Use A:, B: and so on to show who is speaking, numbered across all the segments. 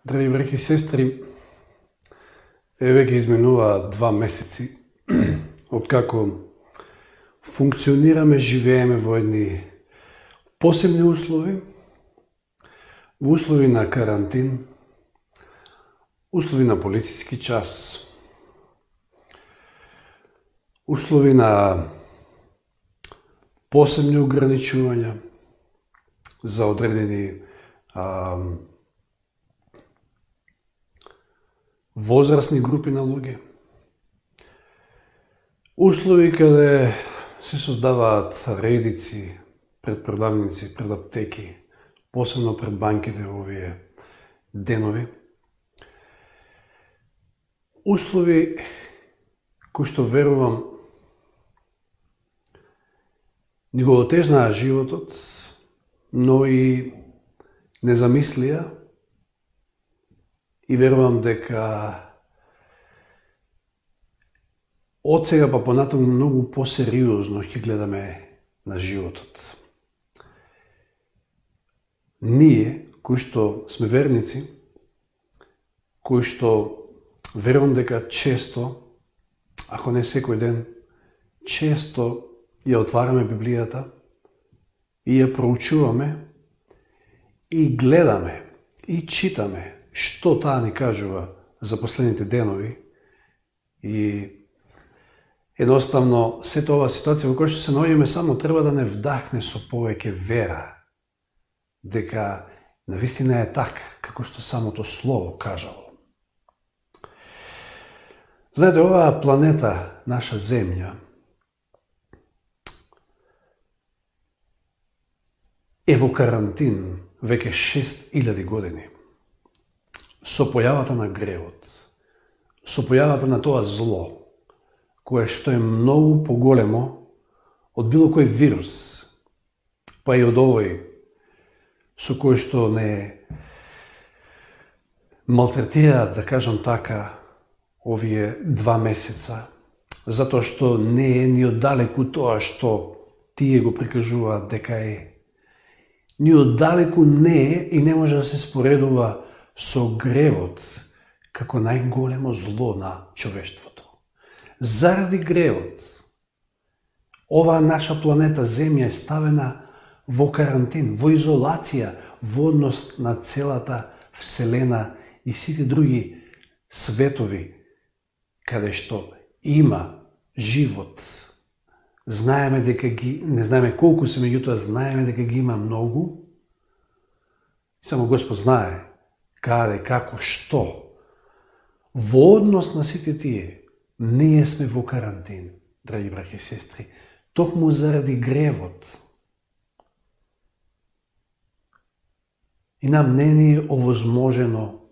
A: Драги браќи и сестри, веќе изминува 2 месеци откако функционираме, живееме во едни посебни услови, во услови на карантин, услови на полициски час, услови на посебни ограничувања за одредени возрастни групи на луѓе. Услови каде се создаваат редици пред продавници, пред аптеки, посебно пред банките во овие денови. Услови кои што верувам ни го отежнаа животот, но и не замислија и верувам дека од сега па понатаму многу посериозно ќе гледаме на животот. Ние, кои што сме верници, кои што верувам дека често, ако не секој ден, често ја отвараме Библијата и ја проучуваме и гледаме и читаме што таа ни кажува за последните денови и едноставно сета оваа ситуација во која што се наоѓаме само треба да не вдахне со повеќе вера дека навистина е така како што самото слово кажало. Знаете, оваа планета, наша земја, е во карантин веќе 6000 години. Со појавата на гревот, со појавата на тоа зло, кое што е многу поголемо од било кој вирус, па и од овој со кој што не малтретираат, да кажам така, овие 2 месеца, затоа што не е ни оддалеку тоа што тие го прикажуваат дека е. Ни оддалеку не е и не може да се споредува со гревот како најголемо зло на човештвото. Заради гревот, оваа наша планета Земја е ставена во карантин, во изолација, во однос на целата Вселена и сите други светови каде што има живот. Знаеме дека не знаеме колку се, меѓутоа знаеме дека ги има многу. Само Господ знае каде, како, што. Во однос на сите тие, ние сме во карантин, драги браќи и сестри, токму заради гревот. И нам не ни е овозможено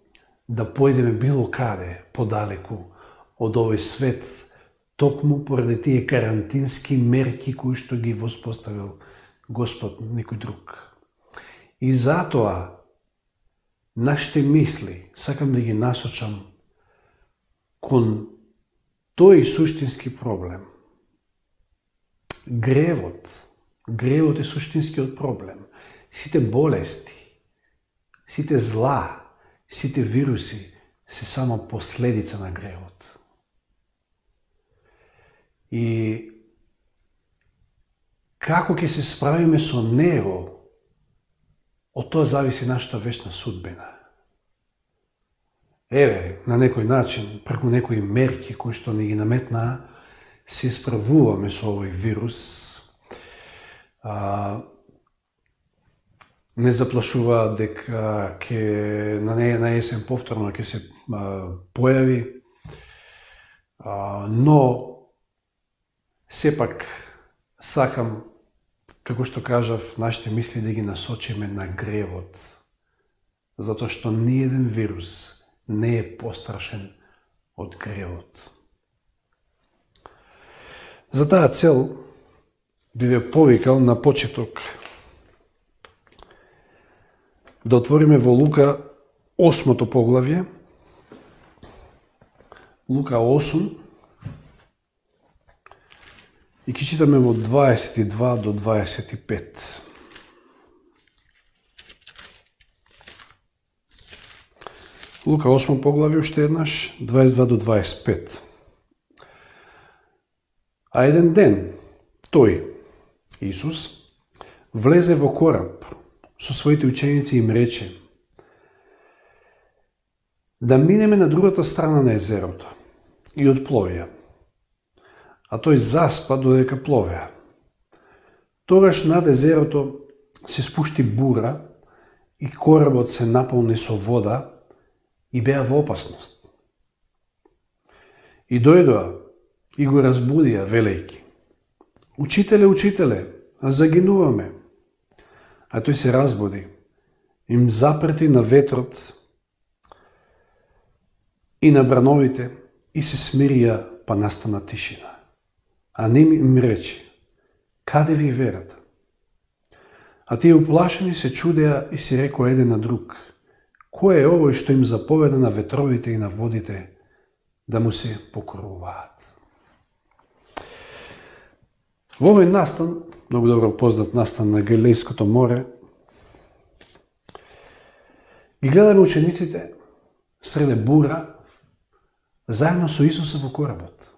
A: да појдеме било каде подалеку од овој свет, токму поради тие карантински мерки кои што ги воспоставил Господ, некој друг. И затоа нашите мисли сакам да ги насочам кон тој суштински проблем. Гревот е суштинскиот проблем. Сите болести, сите зла, сите вируси се само последица на гревот. И како ќе се справиме со него, од тоа зависи нашата вечна судбина. На некој начин, преку некои мерки кои што ни ги наметнаа, се справуваме со овој вирус. Не заплашува дека на есен повторно ќе се појави, но сепак сакам, како што кажав, нашите мисли да ги насочиме на гревот, затоа што ниеден вирус не е пострашен од гревот. За таа цел би ве повикал на почеток да отвориме во Лука 8 поглавје, Лука 8, и ќе читаме во 22 до 25. Лука 8 поглави уште еднаш, 22 до 25. А еден ден, тој, Исус, влезе во кораб со своите ученици и им рече да минеме на другата страна на езерото и одпловија. А тој заспа додека пловеа. Тогаш над езерото се спушти бура и коработ се наполни со вода и беа во опасност. И дојдоа и го разбудија, велејки: Учителе, учителе, загинуваме. А тој се разбуди, им запрети на ветрот и на брановите и се смирија, па настана тишина. А ним им рече: каде ви верата? А тие уплашени се чудеа и си рекоа еден на друг: кој е овој што им заповеда на ветровите и на водите да му се покоруваат? Во овој настан, многу добро познат настан на Галилејското море, и гледаме учениците среде бура, заедно со Исуса во коработ.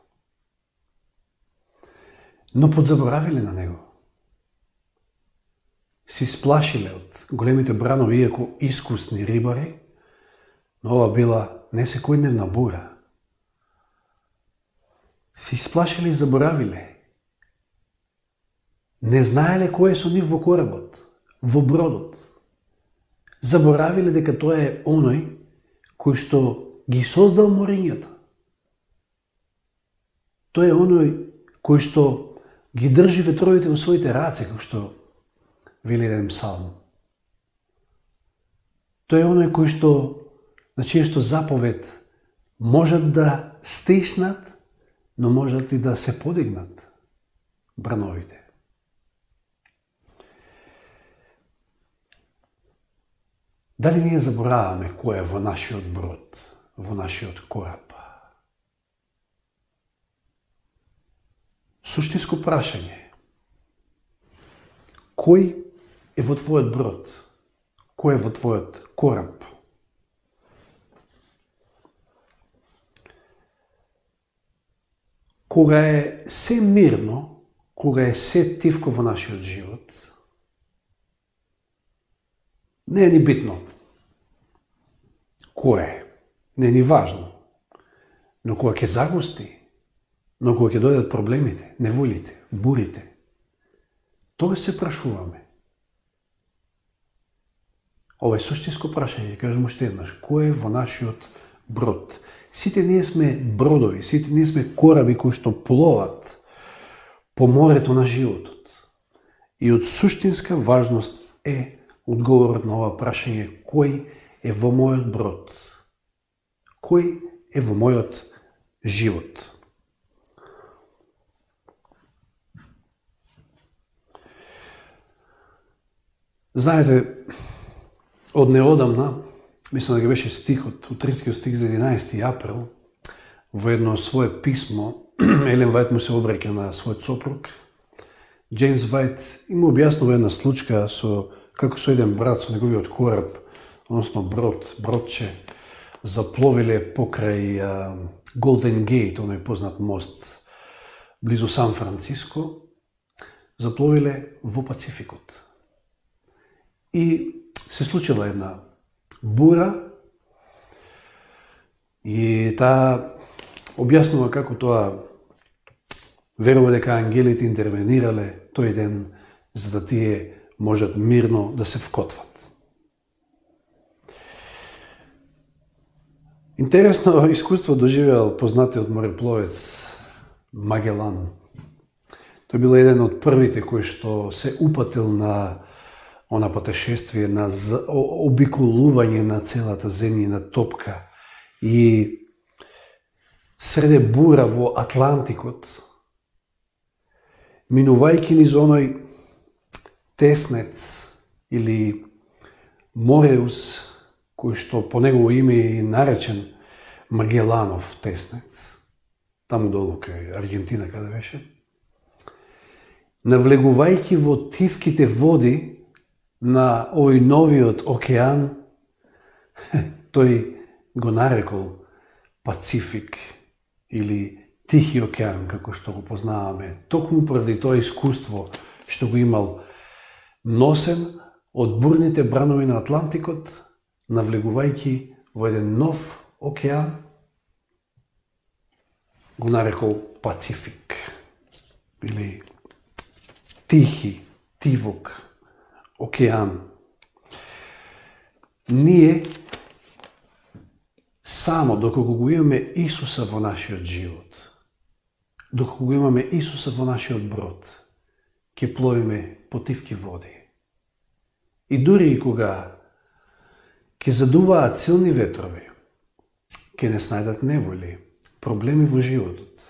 A: Но подзаборавиле на него. Си сплашиле од големите бранови, иако искусни рибари, но ова била не секојдневна бура. Си сплашиле и заборавиле. Не знаеле кој е со нив во коработ, во бродот. Заборавиле дека тоа е оној кој што ги создал морињата. Тој е оној кој што ги држи ветровите во своите раце, како што вели еден псалм. Тој е оној кој што, на чијашто заповед можат да стиснат, но можат и да се подигнат брановите. Дали ние забораваме кој е во нашиот брод, во нашиот кораб? Суштинско прашање. Кој е во твојот брод? Кој е во твојот кораб? Кога е се мирно, кога е се тивко во нашиот живот, не е ни битно кој е, не е ни важно. Но кога ќе загусти, но кога ќе дојдат проблемите, неволите, бурите, тогаш се прашуваме. Ова е суштинско прашање, кажам уште еднаш, кој е во нашиот брод? Сите ние сме бродови, сите ние сме кораби кои што пловат по морето на животот. И од суштинска важност е одговорот на ова прашање: кој е во мојот брод? Кој е во мојот живот? Знаете, од неодамна, мислам дека беше стихот, утринскиот стих за 11 април, во едно свое писмо, Елен Вајт му се обраќа на својот сопруг. Джеймс Вајт им објаснува една случка како со еден брат со неговиот кораб, односно бродче, запловиле покрај Голден Гейт, оној познат мост, близу Сан Франциско, запловиле во Пацификот. И се случила една бура и таа објаснува како тоа верува дека ангелите интервенирале тој ден за да тие можат мирно да се вкотват. Интересно искуство доживеал познатиот морепловец Магелан. Тој бил еден од првите кои што се упатил на она патешествие, на обиколување на целата земјина топка и среде бура во Атлантикот, минувајќи низ оној теснец или Мореус, кој што по негово име е наречен Магеланов теснец, таму долу кај Аргентина каде беше, навлегувајќи во тивките води на овој новиот океан, тој го нарекол Пацифик или Тихи океан, како што го познаваме, токму поради тоа искуство што го имал носен од бурните бранови на Атлантикот, навлегувајќи во еден нов океан, го нарекол Пацифик или Тихи, Тивок океан. Ние само доколку го имаме Исуса во нашиот живот, доколку го имаме Исуса во нашиот брод, ќе пловиме по тивки води. И дури и кога ќе задуваат силни ветрови, ќе не снајдат неволи, проблеми во животот,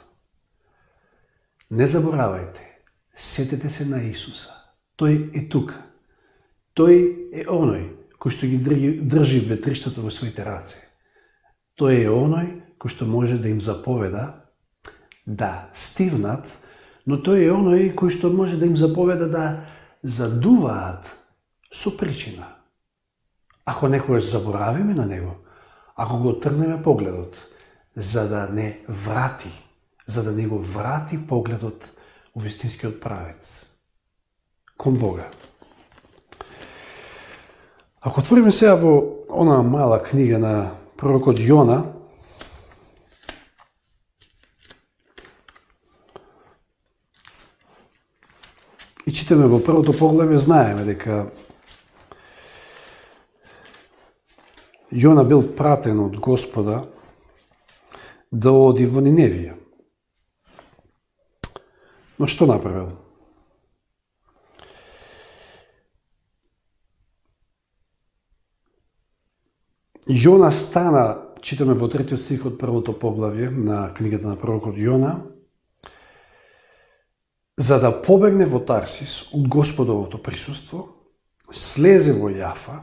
A: не заборавајте, сетете се на Исуса. Тој е тука. Тој е оној кој што ги држи ветриштата во своите раце. Тој е оној кој што може да им заповеда да стивнат, но тој е оној кој што може да им заповеда да задуваат со причина. Ако некојаш заборавиме на него, ако го трнеме погледот, за да не врати, за да не го врати погледот у вистинскиот правец, кон Бога. Ако отвориме сега во она мала книга на пророкот Јона, и читаме во првото поглавје, знаеме дека Јона бил пратен од Господа да оди во Ниневија. Но што направил? Јона стана, читаме во 3 стих од првото поглавје на книгата на пророкот Јона, за да побегне во Тарсис од Господовото присуство, слезе во Јафа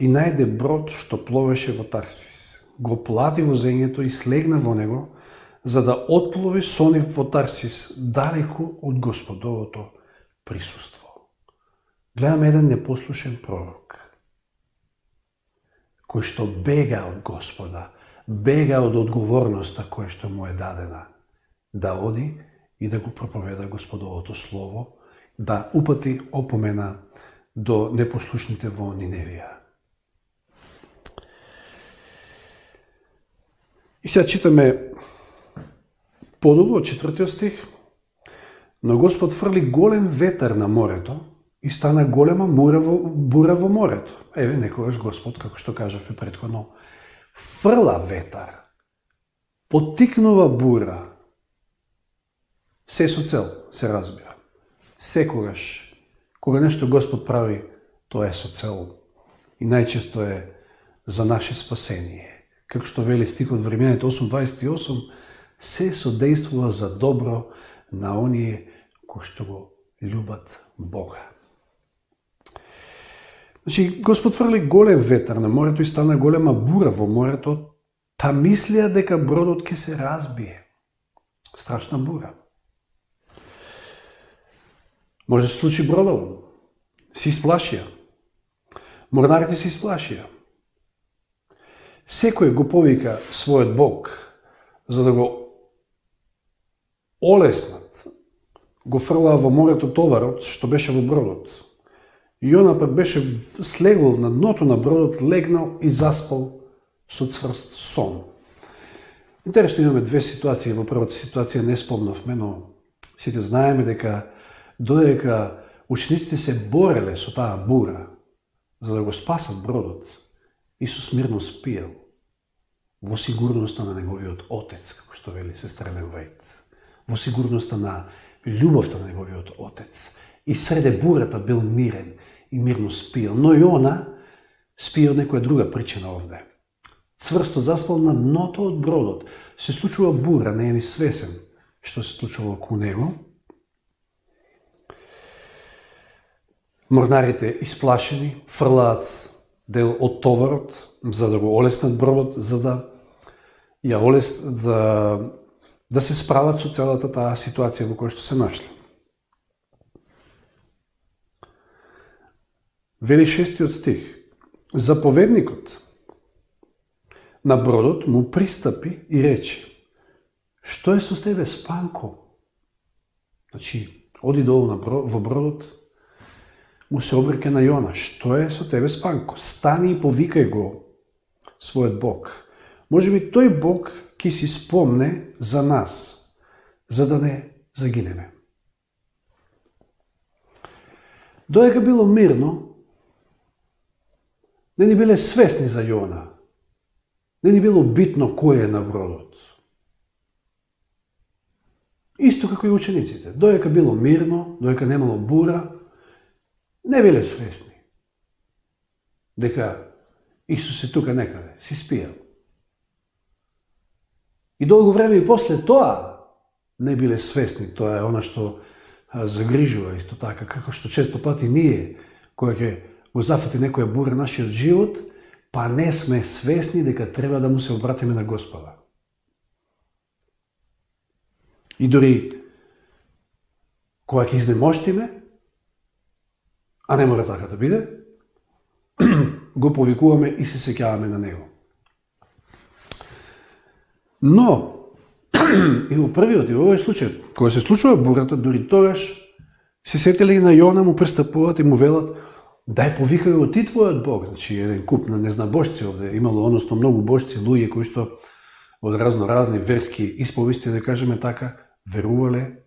A: и најде брод што пловеше во Тарсис. Го плати возењето и слегна во него, за да отплови со нив во Тарсис далеку од Господовото присуство. Гледаме еден непослушен пророк, кој што бега од Господа, бега од одговорноста која што му е дадена, да оди и да го проповеда Господовото слово, да упати опомена до непослушните во Ниневија. И сега читаме подолу од 4 стих. Но Господ фрли голем ветер на морето и стана голема бура во морето. Еве, некогаш Господ, како што кажавме претходно, фрла ветар, поттикнува бура, се со цел, се разбира. Секогаш, кога нешто Господ прави, тоа е со цел. И најчесто е за наше спасение. Како што вели стихот во Римјаните 8:28, се содействува за добро на оние кои што го љубат Бога. Значи, Господ фрли голем ветер на морето и стана голема бура во морето, та мислија дека бродот ќе се разбие. Страшна бура. Може да се случи бродово. Се исплашија. Морнарите се исплашија. Секој го повика својот Бог, за да го олеснат. Го фрлаа во морето товарот, што беше во бродот. Јона пак беше слегол на дното на бродот, легнал и заспал со цврст сон. Интересно, имаме две ситуации. Во првата ситуација не спомнавме, но сите знаеме дека додека учениците се бореле со таа бура за да го спасат бродот, Исус мирно спиел во сигурноста на неговиот Отец, како што вели сестра Елен Вајт, во сигурноста на љубовта на неговиот Отец. И среде бурата бил мирен и мирно спиел. Но Јона спие од некоја друга причина овде. Цврсто заспал на дното од бродот. Се случува бура, не е ни свесен што се случува околу него. Морнарите исплашени фрлаат дел од товарот за да го олеснат бродот, за да да се справат со целата таа ситуација во која што се нашли. Вели 6 стих. Заповедникот на бродот, му пристапи и рече: "Што е со тебе, спанко?" Значи, оди долу во бродот, му се обрека на Јона: "Што е со тебе, спанко? Стани и повикај го својот Бог. Може би тој Бог ќе си спомне за нас, за да не загинеме." Додека било мирно, не ни биле свесни за Јона. Не ни било битно кој е на бродот. Исто како и учениците. Додека било мирно, додека немало бура, не биле свесни дека Исус е тука некаде, си спијал. И долго време и после тоа не биле свесни. Тоа е она што загрижува исто така, како што често пати ние, која ќе го зафати некоја бура нашиот живот, па не сме свесни дека треба да му се обратиме на Господа. И дори кога ќе изнемоштиме, а не мора така да биде, го повикуваме и се сеќаваме на него. Но, и во првиот и во овој случај, кога се случува бурата, дори тогаш се сетили и на Јона, му пристапуваат и му велат: "Дај повикај го ти твојот Бог." Значи, еден куп на незнабожци овде имало, односно многу божци, луѓе кои што од разни верски исповести, да кажеме така, верувале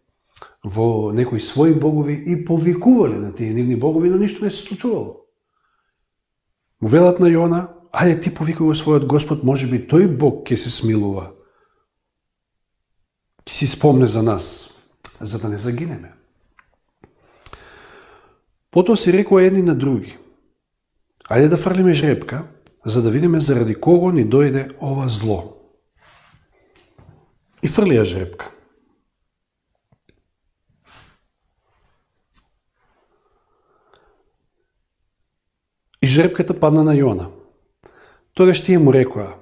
A: во некои своји богови и повикувале на тие нивни богови, но ништо не се случувало. Му велат на Јона: "Ајде ти повикај го својот Господ, може би тој Бог ќе се смилува, ќе си спомне за нас, за да не загинеме." Потоа си рекоа едни на други: "Ајде да фрлиме жребка, за да видиме заради кого ни дојде ова зло." И фрлија жребка. И жребката падна на Јона. Тогаш тие му рекоа: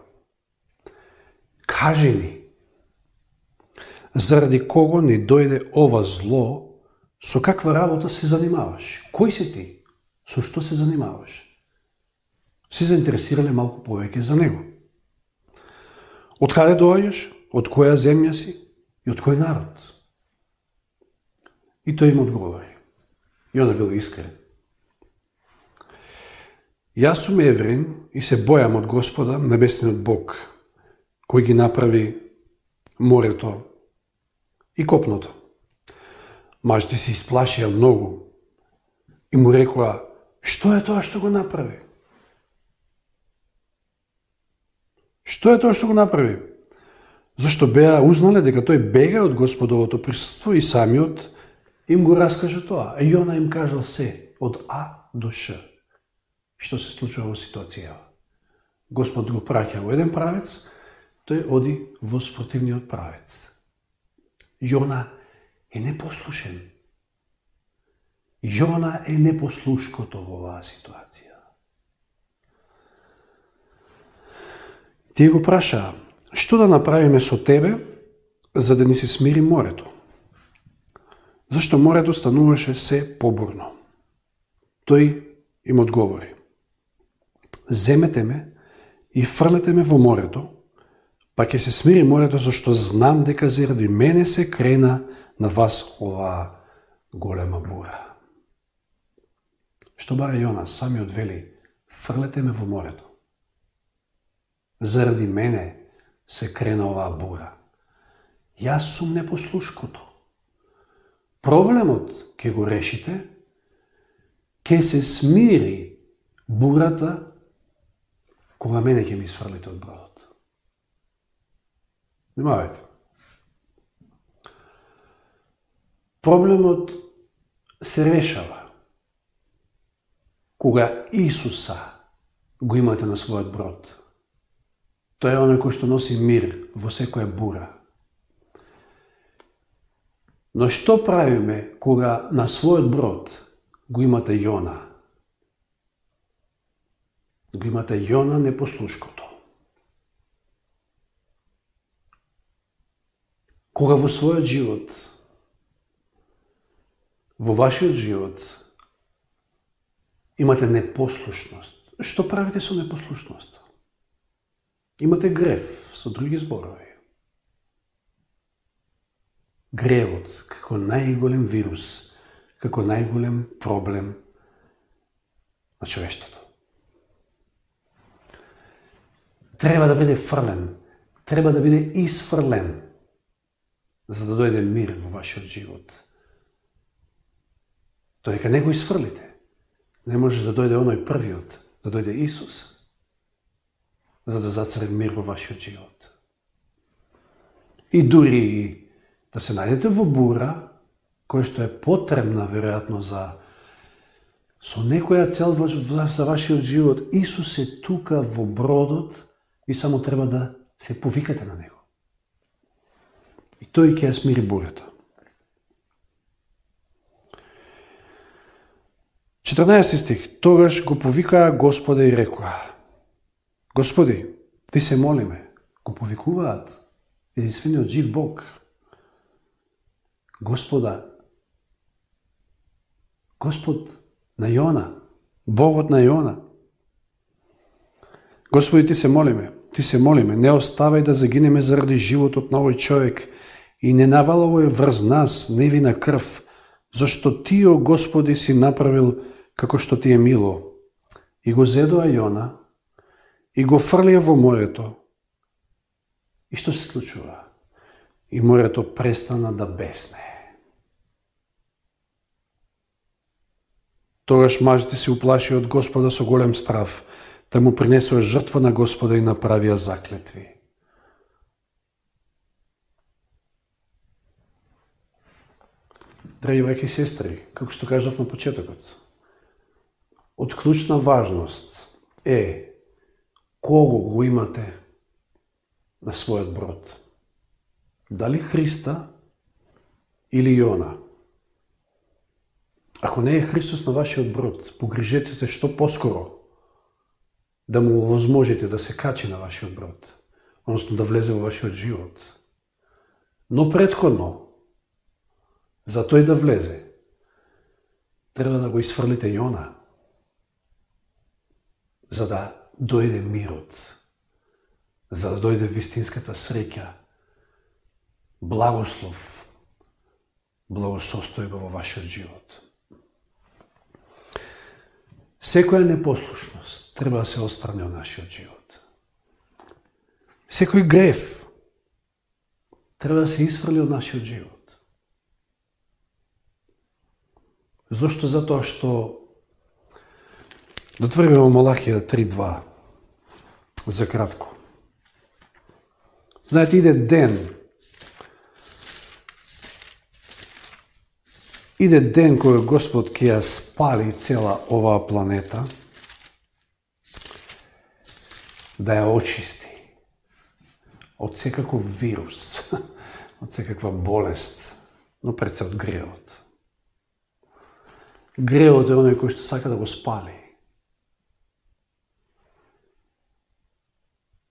A: "Кажи ни, заради кого ни дојде ова зло, со каква работа се занимаваш? Кој си ти? Со што се занимаваш?" Се заинтересирале малку повеќе за него. "Од каде доаѓаш? Од која земја си? И од кој народ?" И тој им одговори. Јона бил искрен: "Јас сум евреин и се бојам од Господа, небесниот Бог, кој ги направи морето и копното." Мажите се исплашија многу и му рекоа: "Што е тоа што го направи? Што е тоа што го направи?" Зашто беа узнале дека тој бега од Господовото присуство и самиот им го раскажа тоа. А Јона им кажал се, од А до Ш, што се случува во ситуацијава. Господ го праќа во еден правец, тој оди во спротивниот правец. Јона е непослушен. Јона е непослушкото во оваа ситуација. Тие го прашаа: "Што да направиме со тебе, за да ни се смири морето?" Зашто морето стануваше се побурно. Тој им одговори: "Земете ме и фрлете ме во морето, па ќе се смири морето, зашто знам дека заради мене се крена на вас оваа голема бура." Што бара Јона, самиот вели: "Фрлете ме во морето. Заради мене се крена оваа бура. Јас сум непослушкото. Проблемот ќе го решите, ќе се смири бурата кога мене ќе ми сфрлите од бродот." Внимавајте. Проблемот се решава кога Исуса го имате на својот брод. Тој е оној кој што носи мир во секоја бура. Но што правиме кога на својот брод го имате Јона? Го имате Јона непослушкото. Кога во својот живот, во вашиот живот, имате непослушност, што правите со непослушноста? Имате грев, со други зборови. Гревот како најголем вирус, како најголем проблем на човештвото. Треба да биде фрлен, треба да биде исфрлен, за да дојде мир во вашиот живот. Додека не го исфрлите, не може да дојде оној првиот, да дојде Исус, за да зацари мир во вашиот живот. И дури да се најдете во бура, која што е потребна, веројатно, со некоја цел за вашиот живот, Исус е тука во бродот и само треба да се повикате на Него. И тој ќе ја смири бурата. 14 стих. Тогаш го повикаа Господа и рекоа: Господи, Ти се молиме. Го повикуваат единствениот жив Бог. Господа, Господ на Јона, Богот на Јона. Господи, Ти се молиме, не оставај да загинеме заради животот на овој човек и не навалувај врз нас невина крв, зашто Ти, о Господи, си направил како што Ти е мило. И го зедоа Јона и го фрлија во морето. И што се случува? И морето престана да бесне. Тогаш мажите се уплашија од Господа со голем страв, да му принесува жртва на Господа и направија заклетви. Драги браќи и сестри, како што кажав на почетокот, од клучна важност е кого го имате на својот брод. Дали Христа или Јона? Ако не е Христос на вашиот брод, погрижете се што поскоро да му овозможите да се качи на вашиот брод, односно да влезе во вашиот живот. Но претходно, за тој да влезе, треба да го исфрлите Јона, за да дојде мирот, за да дојде вистинската среќа, благослов, благосостојба во вашиот живот. Секоја непослушност треба да се отстрани од нашиот живот. Секој грев треба да се исфрли од нашиот живот. Зошто? Затоа што дотвориме во Малахија 3:2 за кратко. Знаете, иде ден кој Господ ќе ја спали цела оваа планета, да ја очисти од секаков вирус, од секаква болест, но пред се од гревот. Гревот е оној кој што сака да го спали.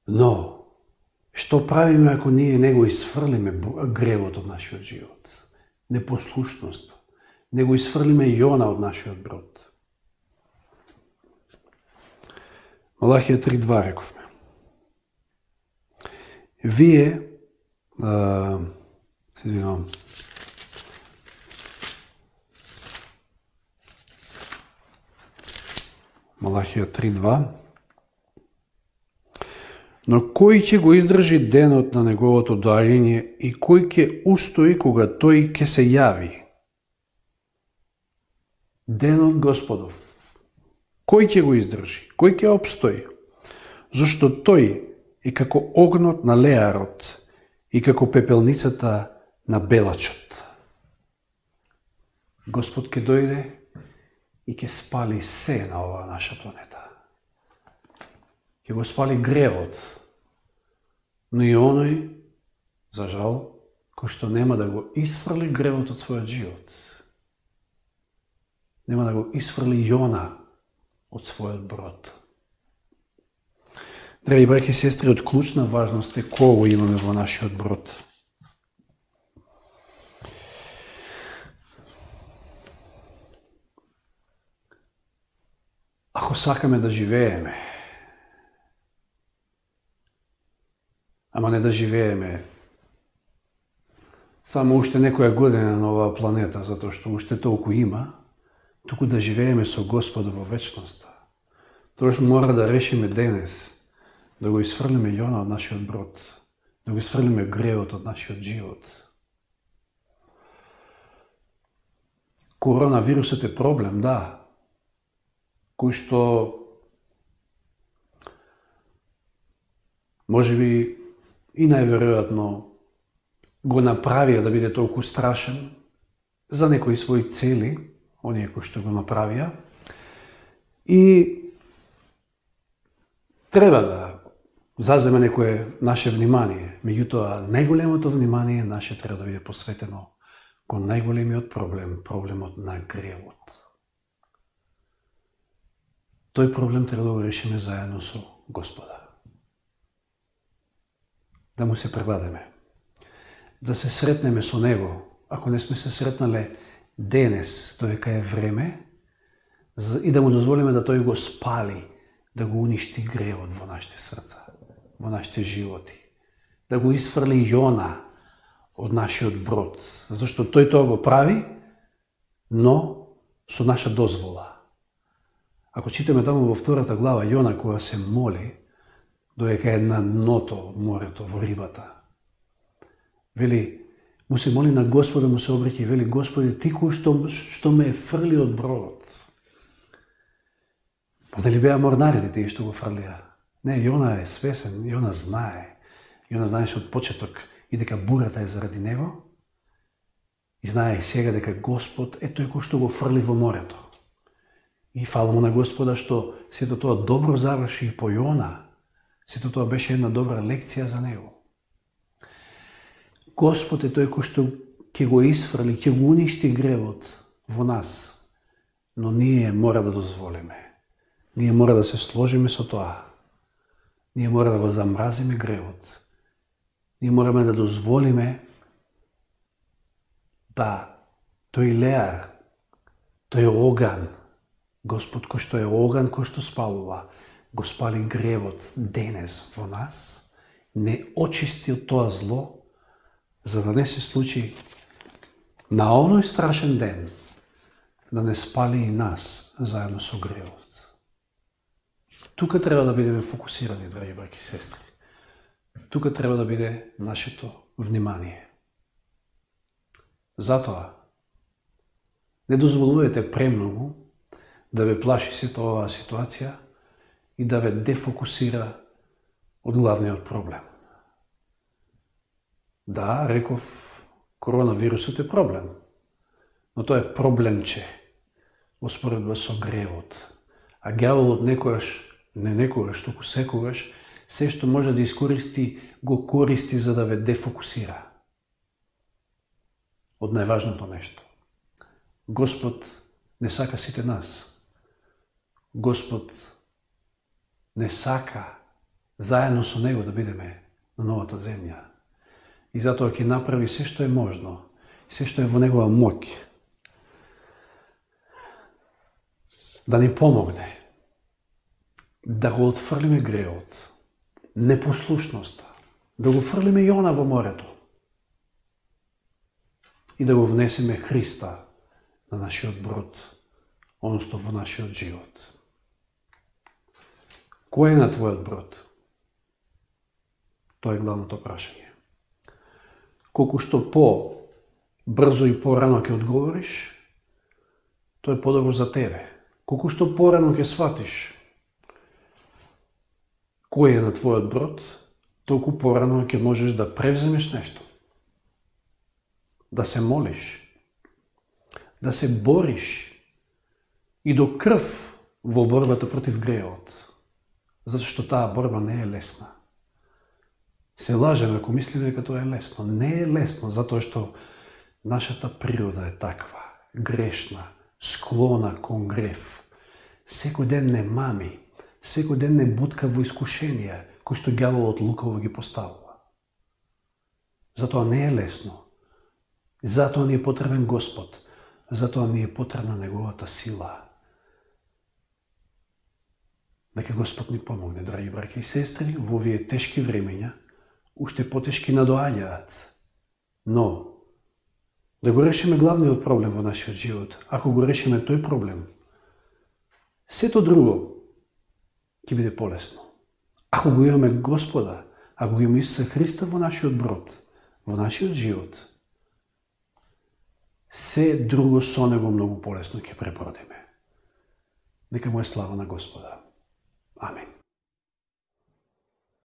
A: Но, што правиме ако ние не го исфрлиме гревот од нашиот живот? Непослушност. Не го исфрлиме Јона од нашиот брод. Малахија 3:2 рековме. Вие, се извинувам, Малахија 3:2, но кој ќе го издржи денот на неговото доаѓање и кој ќе устои кога тој ќе се јави? Денот Господов. Кој ќе го издржи? Кој ќе обстои? Зашто тој е како огнот на леарот и како пепелницата на белачот. Господ ќе дојде и ќе спали се на оваа наша планета. Ќе го спали гревот, но и оној, за жал, кој што нема да го исфрли гревот од својот живот. Нема да го исфрли Јона од својот брод. Драги браќи и сестри, од клучна важност е кого имаме во нашиот брод. Ако сакаме да живееме ама не да живееме само уште некоја година на оваа планета, затоа што уште толку има, туку да живееме со Господа во вечноста. Тоа што мора да решиме денес, да го исфрлиме Јона од нашиот брод, да го исфрлиме гревот од нашиот живот. Коронавирусот е проблем, да, кој што можеби и најверојатно го направија да биде толку страшен за некои своји цели, оние кои што го направија, и треба да заземе некое наше внимание. Меѓутоа, најголемото внимание наше треба да биде посветено кон најголемиот проблем, проблемот на гревот. Тој проблем треба да го решиме заедно со Господа. Да му се предадеме. Да се сретнеме со Него, ако не сме се сретнале денес, додека е време, и да му дозволиме да тој го спали, да го уништи гревот во нашите срца, во нашите животи. Да го исфрли Јона од нашиот брод, зашто тој тоа го прави, но со наша дозвола. Ако читаме таму во 2 глава Јона, која се моли, додека е на дното од морето, во рибата, вели, му се моли на Господа, му се обреќа и вели, Господи, ти кој што ме фрли од бродот. Па дали беа морнарите тие што го фрлија? Не, Јона е свесен, Јона знае. Јона знаеше од почеток и дека бурата е заради него, и знае и сега дека Господ е тој кој што го фрли во морето. И фала му на Господа што сето тоа добро заврши и по Јона. Сето тоа беше една добра лекција за него. Господ е тој кој што ќе го исфрли, ќе го уништи гревот во нас, но ние мора да дозволиме. Ние мора да се сложиме со тоа. Ние мора да го замразиме гревот. Ние мораме да дозволиме да тој леар, тој оган, Господ кој што е оган, кој што спалува, го спали гревот денес во нас, не очисти од тоа зло, за да не се случи на оној страшен ден да не спали и нас заедно со гревот. Тука треба да бидеме фокусирани, драги браќи и сестри. Тука треба да биде нашето внимание. Затоа, не дозволувате премногу да ве плаши сето оваа ситуација и да ве дефокусира од главниот проблем. Да, реков, коронавирусот е проблем, но тоа е проблемче успоредба со гревот. А ѓаволот некогаш, туку секогаш, се што може да искористи, го користи за да ве дефокусира од најважното нешто. Господ не сака сите нас. Господ не сака заедно со Него да бидеме на новата земја. И затоа ќе направи се што е можно, се што е во Негова моќ, да ни помогне, да го отфрлиме греот, непослушноста, да го фрлиме Јона во морето и да го внесеме Христа на нашиот брод, односно во нашиот живот. Кој е на твојот брод? Тоа е главното прашање. Колку што по-брзо и порано ќе одговориш, тоа е подобро за тебе. Колку што порано ќе сватиш кој е на твојот брод, толку порано ќе можеш да превземеш нешто. Да се молиш, да се бориш и до крв во борбата против греот. Затоа што таа борба не е лесна. Се лажеме ако мислиме дека тоа е лесно. Не е лесно, затоа што нашата природа е таква, грешна, склона кон грев. Секој ден не мами, секој ден не бутка во искушенија, кои што ѓаволот лукаво ги поставува. Затоа не е лесно. Затоа ни е потребен Господ. Затоа ни е потребна Неговата сила. Нека Господ ни помогне, драги браќи и сестри, во овие тешки времења, уште потешки надоаѓаат. Но, да го решиме главниот проблем во нашиот живот, ако го решиме тој проблем, сето друго ќе биде полесно. Ако го имаме Господа, ако го имаме Исуса Христа во нашиот брод, во нашиот живот, се друго со него многу полесно ќе пребродиме. Нека му е слава на Господа. Амин.